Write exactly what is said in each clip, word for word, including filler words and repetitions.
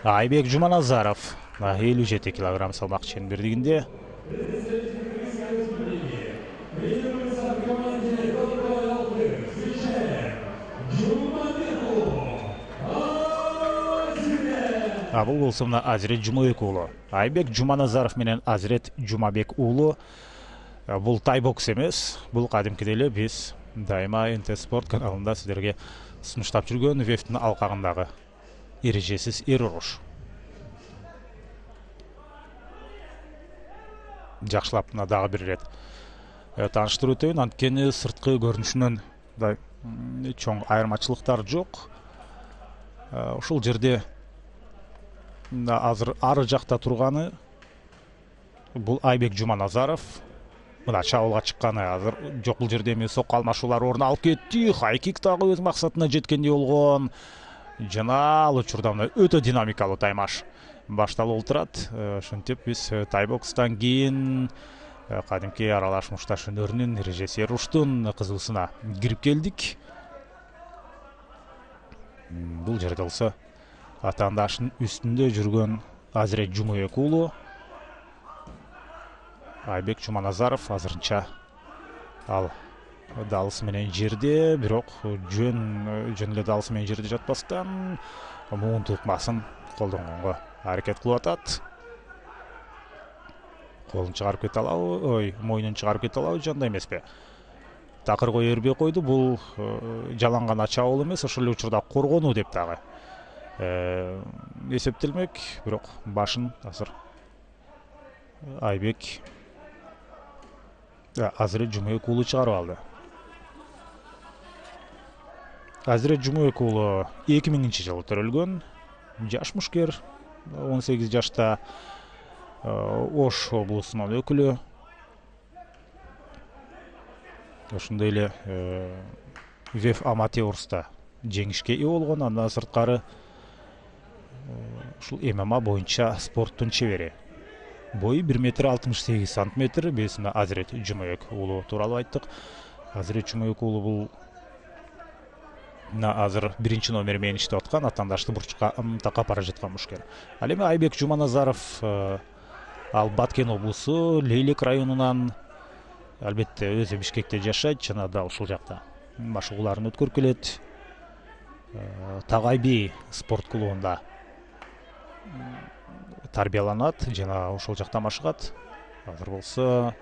Айбек Жуманазаров элүү жети килограмм салмак чембердигинде. А бул болсо мына Азирет Жумабек уулу. Айбек Жуманазаров менен Азирет Жумабек уулу. Бул тай бокс эмес, бул кадимкидей эле биз дайыма эн тэ спорт каналында сиздерге сунуштап жүргөн вефтин алкагындагы эрежесиз эр уруш. Жакшылап мына дагы бир ирет тааныштырып өтөйүн, анткени сырткы көрүнүшүнөн чоң айырмачылыктар жок. Ушул жерде азыр ары жакта турганы бул Айбек Жуманазаров. Мына чабуулга чыкканы азыр жок, бул жерде эми сокко алмашуулар орун алып кетти. Хайкик дагы өз максатына жеткендей болгон. Жана ал учурда мына өтө динамикалуу таймаш башталып отурат. Ошентип биз тайбокстан кийин кадимки аралаш мушташ өнөрүнүн эрежеси уруштун кызуусуна кирип келдик. Бул жерде болсо атаандашынын үстүндө жүргөн Азирет Жумабек уулу. Айбек Жуманазаров азырынча ал далысы менен жерде, бирок жөн жөн эле далысы менен жерде жатпастан муун тукмасын колдонгонго аракет кылып атат. Колун чыгарып кете алабы, ой, мойнун чыгарып кете алабы, жандай эмеспи? Такыр кое бербей койду. Бул жалаң гана чабуул эмес, ошол эле учурда коргонуу деп дагы эсептелмек. Бирок башын азыр Айбек Азирет Жумабек уулу чыгарып алды. Азирет Жумабек уулу эки миңинчи жылы төрөлгөн, жаш мушкер, он сегиз жашта, Ош облусунун өкүлү. Ошондой эле веф аматеурста жеңишке ээ болгон. Андан сырткары ушул эм эм а боюнча спорттун чебери. Бою бир метр алтымыш сегиз сантиметр. Биз Азирет Жумабек уулу тууралуу айттык. Азирет Жумабек уулу бул мына азыр биринчи номер менен иштеп аткан, атаандашты бурчка такап бара жаткан мушкер. Ал эми Айбек Жуманазаров ал Баткен облусу Лейлек районунан, албетте өзү Бишкекте жашайт жана да ушул жакта машыгууларын өткөрүп келет. Тагайби спорт клубунда тарбияланат жана ошол жакта машыгат. Азыр болсо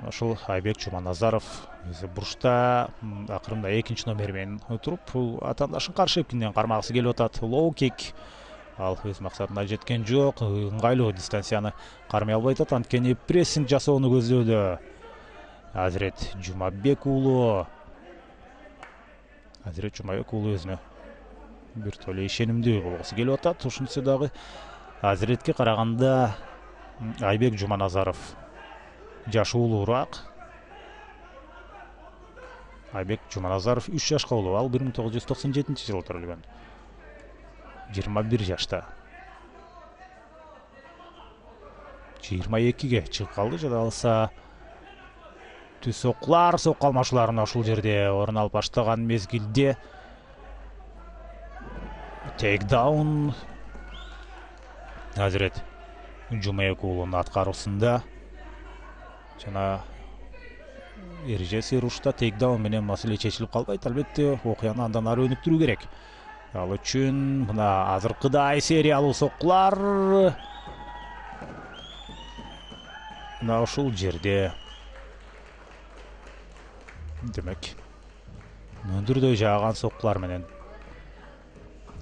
ошол Айбек Жуманазаров өзү бурчта акырында экинчи номер менен туруп атаандашын каршы эпкинден кармагысы келип атат. Лоу кик ал өз максатына жеткен жок. Ыңгайлуу дистанцияны кармай албай атат, анткени прессинг жасоону көздөдө Азирет Жумабек уулу. Азирет Жумабек уулу өзүнө бир толе ишенимдүү болгусу келип атат. Ушунусу дагы Азиретке караганда Айбек Жуманазаров жашы улуураак. Айбек Жуманазаров үч жашка улуу. Ал бир миң тогуз жүз токсон жетинчи жылы төрөлгөн. жыйырма бир жашта. жыйырма экиге чыгып калды. Жада алса түз соккулар, сокко алмашууларына ушул жерде орун алып баштаган мезгилде тейкдаун Азирет Жумабек уулунун аткаруусунда. Жана эрежеси урушта тейкдаун менен маселе чечилип калбайт. Албетте окуяны андан ары өнүктүрүү керек. Ал үчүн мына азыркыдай сериялуу соккулар мына ушул жерде демек мөндүрдөй жааган соккулар менен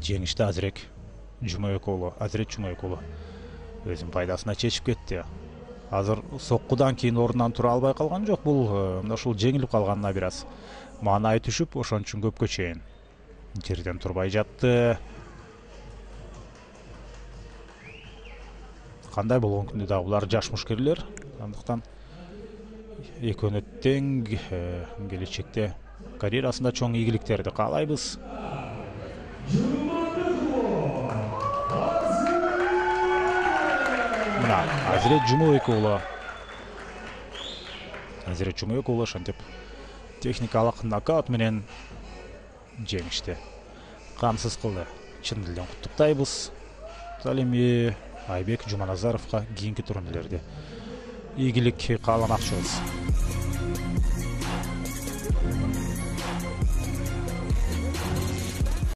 жеңишти Азирет Жумабек уулу. Азирет Жумабек уулу өзүнүн пайдасына чечип кетти. Азыр соккудан кийин ордунан тура албай калган жок. Бул мына ушул жеңилип калганына бир аз маанай түшүп, ошон үчүн көпкө чейин жерден турбай жатты. Кандай болгон күндө дагы булар жаш мушкерлер. Андыктан экөөнө тең келечекте карьерасында чоң ийгиликтерди каалайбыз. Мына Азирет Жумабек уулу. Азирет Жумабек уулу ошентип техникалык нокаут менен жеңишти камсыз кылды. Чын элден куттуктайбыз. ал эми Айбек Жуманазаровго кийинки турнирлерде ийгилик кааламакчыбыз.